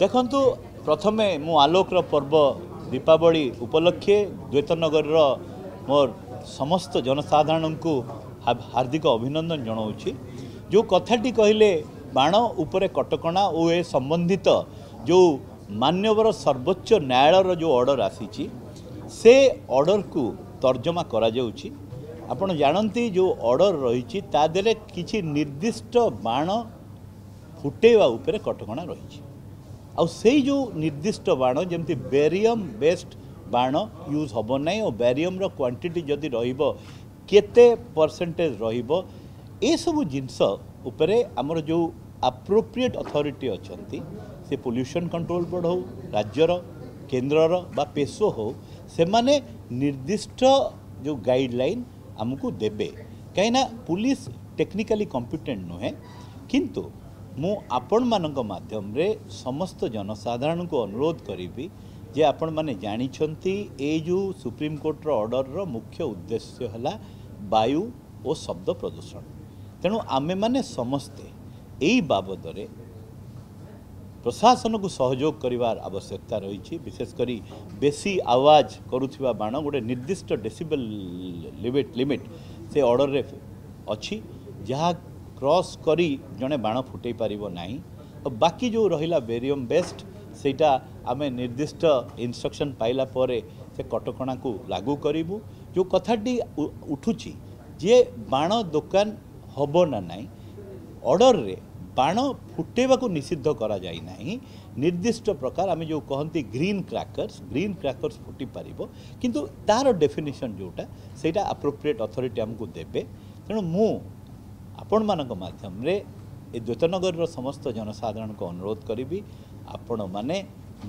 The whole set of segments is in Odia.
ଦେଖନ୍ତୁ, ପ୍ରଥମେ ମୁଁ ଆଲୋକର ପର୍ବ ଦୀପାବଳି ଉପଲକ୍ଷେ ଦ୍ୱୈତନଗରର ମୋର ସମସ୍ତ ଜନସାଧାରଣଙ୍କୁ ହାର୍ଦ୍ଦିକ ଅଭିନନ୍ଦନ ଜଣାଉଛି। ଯେଉଁ କଥାଟି କହିଲେ ବାଣ ଉପରେ କଟକଣା ଓ ଏ ସମ୍ବନ୍ଧିତ ଯେଉଁ ମାନ୍ୟବର ସର୍ବୋଚ୍ଚ ନ୍ୟାୟାଳୟର ଯେଉଁ ଅର୍ଡ଼ର ଆସିଛି, ସେ ଅର୍ଡ଼ରକୁ ତର୍ଜମା କରାଯାଉଛି। ଆପଣ ଜାଣନ୍ତି, ଯେଉଁ ଅର୍ଡ଼ର ରହିଛି ତା ଦେହରେ କିଛି ନିର୍ଦ୍ଦିଷ୍ଟ ବାଣ ଫୁଟେଇବା ଉପରେ କଟକଣା ରହିଛି। ଆଉ ସେଇ ଯେଉଁ ନିର୍ଦ୍ଦିଷ୍ଟ ବାଣ, ଯେମିତି ବେରିୟମ୍ ବେସ୍ଡ ବାଣ ୟୁଜ୍ ହେବ ନାହିଁ, ଓ ବେରିୟମ୍ର କ୍ୱାଣ୍ଟିଟି ଯଦି ରହିବ କେତେ ପରସେଣ୍ଟେଜ୍ ରହିବ, ଏସବୁ ଜିନିଷ ଉପରେ ଆମର ଯେଉଁ ଆପ୍ରୋପ୍ରିଏଟ୍ ଅଥରିଟି ଅଛନ୍ତି, ସେ ପଲ୍ୟୁସନ୍ କଣ୍ଟ୍ରୋଲ ବୋର୍ଡ଼ ହେଉ ରାଜ୍ୟର, କେନ୍ଦ୍ରର ବା ପେସୋ ହେଉ, ସେମାନେ ନିର୍ଦ୍ଦିଷ୍ଟ ଯେଉଁ ଗାଇଡ଼ଲାଇନ୍ ଆମକୁ ଦେବେ। କାହିଁକିନା ପୁଲିସ ଟେକ୍ନିକାଲି କମ୍ପିଟେଣ୍ଟ ନୁହେଁ। କିନ୍ତୁ ମୁଁ ଆପଣମାନଙ୍କ ମାଧ୍ୟମରେ ସମସ୍ତ ଜନସାଧାରଣଙ୍କୁ ଅନୁରୋଧ କରିବି ଯେ ଆପଣମାନେ ଜାଣିଛନ୍ତି, ଏଇ ଯେଉଁ ସୁପ୍ରିମକୋର୍ଟର ଅର୍ଡ଼ରର ମୁଖ୍ୟ ଉଦ୍ଦେଶ୍ୟ ହେଲା ବାୟୁ ଓ ଶବ୍ଦ ପ୍ରଦୂଷଣ। ତେଣୁ ଆମେମାନେ ସମସ୍ତେ ଏଇ ବାବଦରେ ପ୍ରଶାସନକୁ ସହଯୋଗ କରିବାର ଆବଶ୍ୟକତା ରହିଛି। ବିଶେଷ କରି ବେଶୀ ଆୱାଜ କରୁଥିବା ବାଣ, ଗୋଟେ ନିର୍ଦ୍ଦିଷ୍ଟ ଡେସିବେଲ୍ ଲିମିଟ୍ ସେ ଅର୍ଡ଼ରରେ ଅଛି, ଯାହା କ୍ରସ୍ କରି ଜଣେ ବାଣ ଫୁଟେଇ ପାରିବ ନାହିଁ। ଆଉ ବାକି ଯେଉଁ ରହିଲା ବେରିୟମ୍ ବେସ୍ଡ, ସେଇଟା ଆମେ ନିର୍ଦ୍ଦିଷ୍ଟ ଇନଷ୍ଟ୍ରକ୍ସନ୍ ପାଇଲା ପରେ ସେ କଟକଣାକୁ ଲାଗୁ କରିବୁ। ଯେଉଁ କଥାଟି ଉଠୁଛି ଯେ ବାଣ ଦୋକାନ ହେବ ନା ନାହିଁ, ଅର୍ଡ଼ରରେ ବାଣ ଫୁଟେଇବାକୁ ନିଷିଦ୍ଧ କରାଯାଇ ନାହିଁ। ନିର୍ଦ୍ଦିଷ୍ଟ ପ୍ରକାର ଆମେ ଯେଉଁ କହନ୍ତି ଗ୍ରୀନ୍ କ୍ରାକର୍ସ, ଗ୍ରୀନ୍ କ୍ରାକର୍ସ ଫୁଟି ପାରିବ, କିନ୍ତୁ ତା'ର ଡେଫିନେସନ୍ ଯେଉଁଟା, ସେଇଟା ଆପ୍ରୋପ୍ରିଏଟ୍ ଅଥରିଟି ଆମକୁ ଦେବେ। ତେଣୁ ମୁଁ ଆପଣମାନଙ୍କ ମାଧ୍ୟମରେ ଏ ଦ୍ୱୈତନଗରର ସମସ୍ତ ଜନସାଧାରଣଙ୍କୁ ଅନୁରୋଧ କରିବି, ଆପଣମାନେ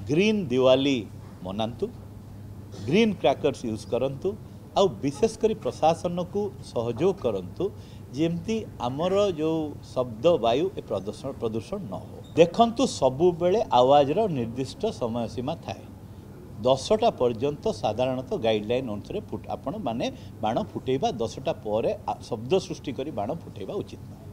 ଗ୍ରୀନ୍ ଦିୱାଲି ମନାନ୍ତୁ, ଗ୍ରୀନ୍ କ୍ରାକର୍ସ ୟୁଜ୍ କରନ୍ତୁ, ଆଉ ବିଶେଷ କରି ପ୍ରଶାସନକୁ ସହଯୋଗ କରନ୍ତୁ, ଯେମିତି ଆମର ଯେଉଁ ଶବ୍ଦ ବାୟୁ ଏ ପ୍ରଦୂଷଣ ନ ହଉ। ଦେଖନ୍ତୁ, ସବୁବେଳେ ଆୱାଜର ନିର୍ଦ୍ଦିଷ୍ଟ ସମୟ ସୀମା ଥାଏ। 10ଟା ପର୍ଯ୍ୟନ୍ତ ସାଧାରଣତଃ ଗାଇଡ଼ଲାଇନ୍ ଅନୁସାରେ ଆପଣ ମାନେ ବାଣ ଫୁଟେଇବା, 10ଟା ପରେ ଶବ୍ଦ ସୃଷ୍ଟି କରି ବାଣ ଫୁଟେଇବା ଉଚିତ ନୁହେଁ।